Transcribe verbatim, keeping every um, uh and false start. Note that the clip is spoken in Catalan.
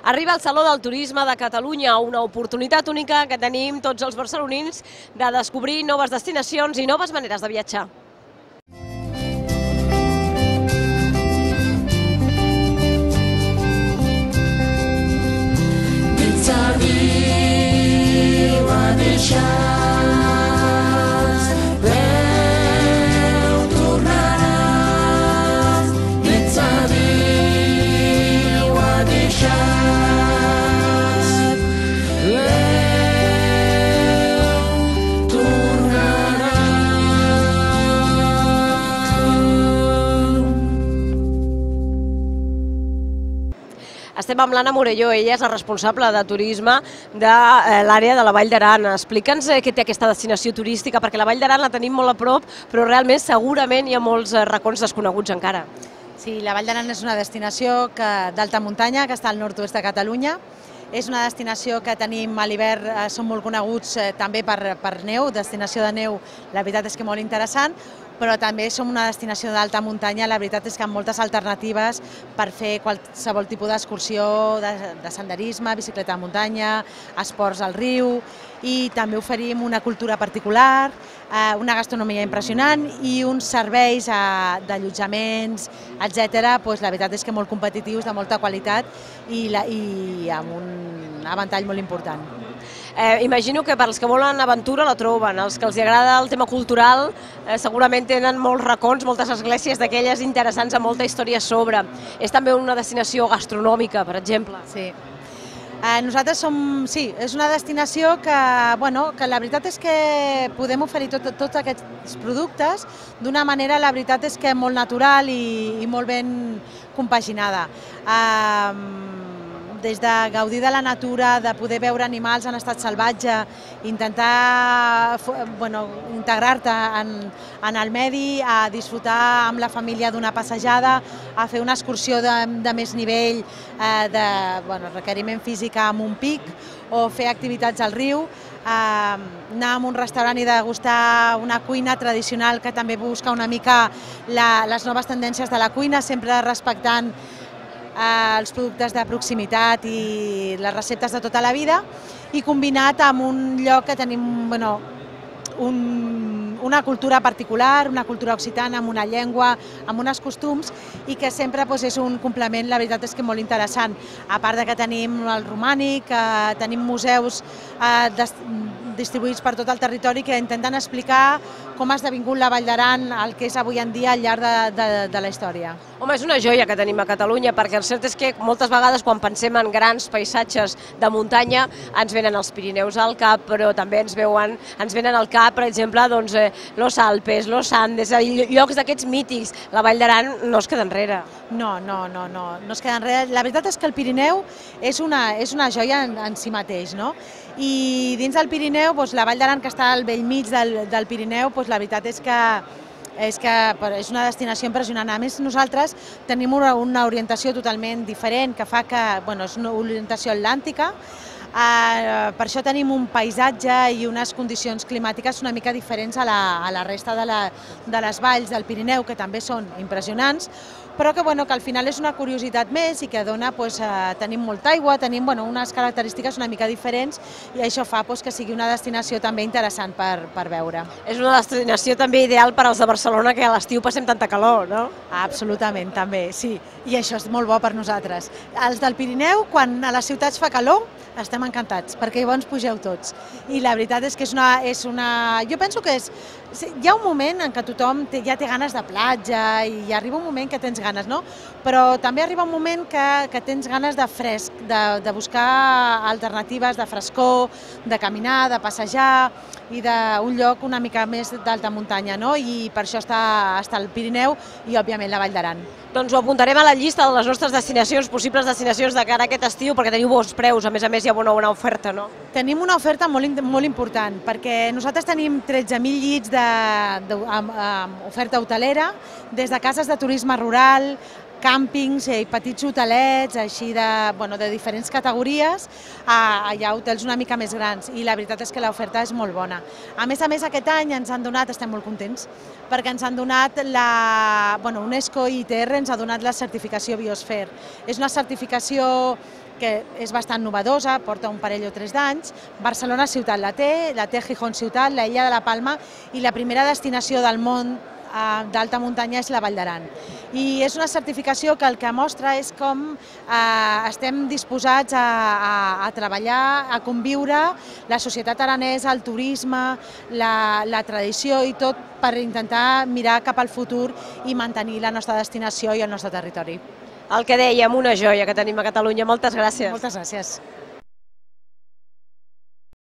Arriba al Saló del Turisme de Catalunya, una oportunitat única que tenim tots els barcelonins de descobrir noves destinacions i noves maneres de viatjar. Estem amb l'Anna Morelló, ella és la responsable de turisme de l'àrea de la Vall d'Aran. Explica'ns què té aquesta destinació turística, perquè la Vall d'Aran la tenim molt a prop, però realment segurament hi ha molts racons desconeguts encara. Sí, la Vall d'Aran és una destinació d'alta muntanya que està al nord-oest de Catalunya. És una destinació que tenim a l'hivern, som molt coneguts també per neu, destinació de neu, la veritat és que molt interessant, però també som una destinació d'alta muntanya, la veritat és que amb moltes alternatives per fer qualsevol tipus d'excursió, de senderisme, bicicleta de muntanya, esports al riu, i també oferim una cultura particular, una gastronomia impressionant i uns serveis d'allotjaments, etcètera. La veritat és que molt competitius, de molta qualitat i amb un avantall molt important. Imagino que per als que volen aventura la troben, els que els agrada el tema cultural segurament tenen molts racons, moltes esglésies d'aquelles interessants amb molta història a sobre. És també una destinació gastronòmica, per exemple. Sí. Nosaltres som, sí, és una destinació que, bueno, que la veritat és que podem oferir tots aquests productes d'una manera, la veritat és que molt natural i molt ben compaginada. Des de gaudir de la natura, de poder veure animals en estat salvatge, intentar integrar-te en el medi, a disfrutar amb la família d'una passejada, a fer una excursió de més nivell, de requeriment físic amb un pic, o fer activitats al riu, anar a un restaurant i degustar una cuina tradicional que també busca una mica les noves tendències de la cuina, sempre respectant els productes de proximitat i les receptes de tota la vida, i combinat amb un lloc que tenim una cultura particular, una cultura occitana, amb una llengua, amb uns costums, i que sempre és un complement, la veritat és que molt interessant. A part que tenim el romànic, tenim museus distribuïts per tot el territori que intenten explicar com ha esdevingut la Vall d'Aran el que és avui en dia al llarg de la història. Home, és una joia que tenim a Catalunya, perquè el cert és que moltes vegades quan pensem en grans paisatges de muntanya ens venen els Pirineus al cap, però també ens venen al cap, per exemple, los Alpes, los Andes, llocs d'aquests mítics. La Vall d'Aran no es queda enrere. No, no, no, no es queda enrere. La veritat és que el Pirineu és una joia en si mateix, no? I dins del Pirineu, la Vall d'Aran, que està al bell mig del Pirineu, la veritat és que és és una destinació impressionant. A més, nosaltres tenim una orientació totalment diferent, que fa que és una orientació atlàntica. Per això tenim un paisatge i unes condicions climàtiques una mica diferents a la resta de les valls del Pirineu, que també són impressionants, però que al final és una curiositat més i que dona, tenim molta aigua, tenim unes característiques una mica diferents, i això fa que sigui una destinació també interessant per veure. És una destinació també ideal per als de Barcelona, que a l'estiu passem tanta calor, no? Absolutament, també, sí, i això és molt bo per nosaltres. Els del Pirineu, quan a les ciutats fa calor, estem encantats, perquè llavors pugeu tots. I la veritat és que és una... Jo penso que és... Hi ha un moment en què tothom ja té ganes de platja i arriba un moment que tens ganes, no? Però també arriba un moment que tens ganes de fresc, de buscar alternatives, de frescor, de caminar, de passejar, i d'un lloc una mica més d'alta muntanya, no? I per això està el Pirineu i, òbviament, la Vall d'Aran. Doncs ho apuntarem a la llista de les nostres destinacions, possibles destinacions de cara a aquest estiu, perquè teniu bons preus, a més a més hi ha una bona oferta, no? Tenim una oferta molt important, perquè nosaltres tenim tretze mil llits d'oferta hotelera, des de cases de turisme rural, càmpings i petits hotelets, així de diferents categories, hi ha hotels una mica més grans, i la veritat és que l'oferta és molt bona. A més a més, aquest any ens han donat, estem molt contents, perquè ens han donat la... Bueno, UNESCO i I T R ens ha donat la certificació Biosphere. És una certificació que és bastant novedosa, porta un parell o tres d'anys. Barcelona ciutat la té, la té Gijón ciutat, la Illa de la Palma i la primera destinació del món d'alta muntanya és la Vall d'Aran. I és una certificació que el que mostra és com eh, estem disposats a, a, a treballar, a conviure la societat aranesa, el turisme, la, la tradició i tot per intentar mirar cap al futur i mantenir la nostra destinació i el nostre territori. El que dèiem, una joia que tenim a Catalunya. Moltes gràcies. Moltes gràcies.